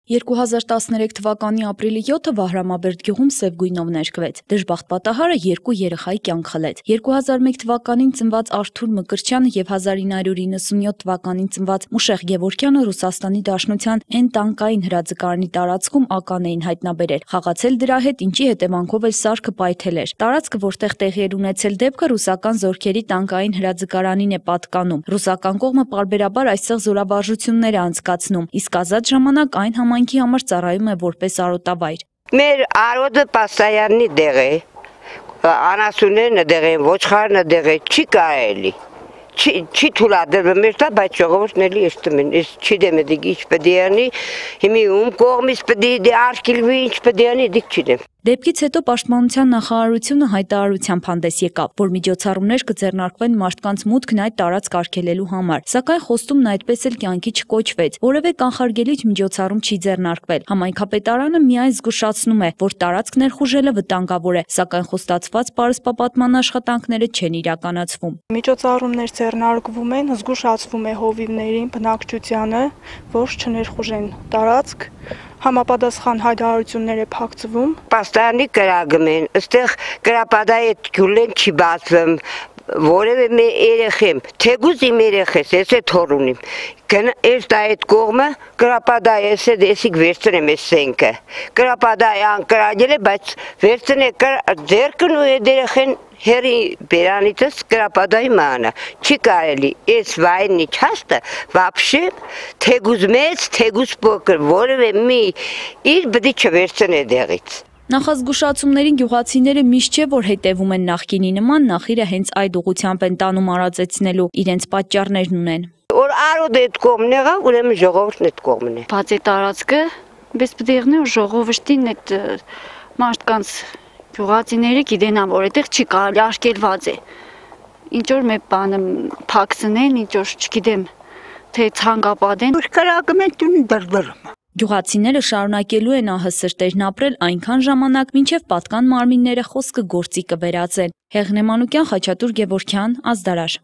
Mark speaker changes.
Speaker 1: 2013 թվականի ապրիլի 7-ը Վահրամաբերդ գյուղում սև գույնով ներկվեց։ Դժբախտ պատահարը 2 երեխայի կյանք խլեց։ 2001 թվականին ծնված Արթուր Մկրտչյանը եւ 1997 թվականին ծնված Մուշեղ Գևորգյանը Ռուսաստանի Դաշնության N տանկային հրաձգարանի տարածքում ական էին հայտնաբերել։ Խաղացել դրա հետ, ինչի հետևանքով էլ սարքը պայթել էր։ Տարածքը, որտեղ տեղի էր ունեցել դեպքը, ռուսական զորքերի տանկային հրաձգարանին է պատկանում։ Ռուսական կողմը պարբերաբար այստեղ զորավարժություններ է անցկացնում, իսկ ազատ ժամանակ այն համայնքի համար ծառայում է որպես արոտավայր։
Speaker 2: Մեր արոտը պաստայաննի դեղ է, անասուններն դեղ են, ոչխարն դեղ է, չի կարելի, չի թույլատրվում մեր տա, բայց ժողովուրդն էլի էստում են, չի դեմ է դիք ինչ պետք է անի, հիմի ում կողմից պետք է արգելվի, ինչ պետք է անի, դիք չդեմ։
Speaker 1: Դեպքից հետո Պաշտպանության նախարարությունը հայտարարությամբ հանդես եկավ, որ միջոցառումներ կձեռնարկվեն մարդկանց մուտքն այդ տարածք արգելելու համար, սակայն խոստումն այդպես էլ կյանքի չկոչվեց, որևէ կանխարգելիչ միջոցառում չի ձեռնարկվել։ Համայնքապետարանը միայն զգուշացնում է, որ տարածք ներխուժելը վտանգավոր է, սակայն խոստացված պարսպապատման աշխատանքները չեն իրականացվում։
Speaker 3: Միջոցառումներ ձեռնարկվում են, զգուշացվում է հովիվներին, բնակչությանը, որ չներխուժեն տարածք, համապատասխան հայտարարություններ է փակցվում։
Speaker 2: Պաստանի կրագում են, այստեղ կրապադայի գյուլեն չի բացվում, որևէ մի երեխեմ, թեկուզ իմ երեխես, ես է թոր ունիմ, ես այդ կողմը կրապադայի ես է դեսիք վերցնեմ ես սենքը, կրապադայի անկրագել է, բայց վերցն է ձերկն ու երեխեն հերի բերանիցս կրապադայի մանա, չի կարելի, ես վայնի չաստը, վապշե, թեկուզ մեծ, թեկուզ պոկր, որևէ մի իր բդի չվերցն է դեղից։
Speaker 1: Նախազգուշացումներին գյուղացիները միշտ չէ, որ հետևում են նախկինի նման, նախիրը հենց այդ ուղղությամբ են տանում արածեցնելու, իրենց պատճառներն ունեն։
Speaker 2: Որ արոդ այդ կողմն եղավ, ուրեմն ժողովուրդն այդ կողմն է։
Speaker 4: Բաց է տարածքը, բես պետք է եղնի, որ ժողովրդին այդ մարդկանց գյուղացիները գիտենան, որ այդտեղ չի կարելի, արգելված է։ Ինչ որ մի բանը փակցնեն, ինչ որ չգիտեմ, թե ցանկապատեն։
Speaker 2: Կրակում են տուն դրդրում։
Speaker 1: Գյուղացիները շարունակելու են ահը սրտերն ապրել այնքան ժամանակ, մինչև պատկան մարմինները խոսքը գործի կվերածեն։ Հեղնե Մանուկյան, Խաչատուր Գևորգյան, Ազդարար։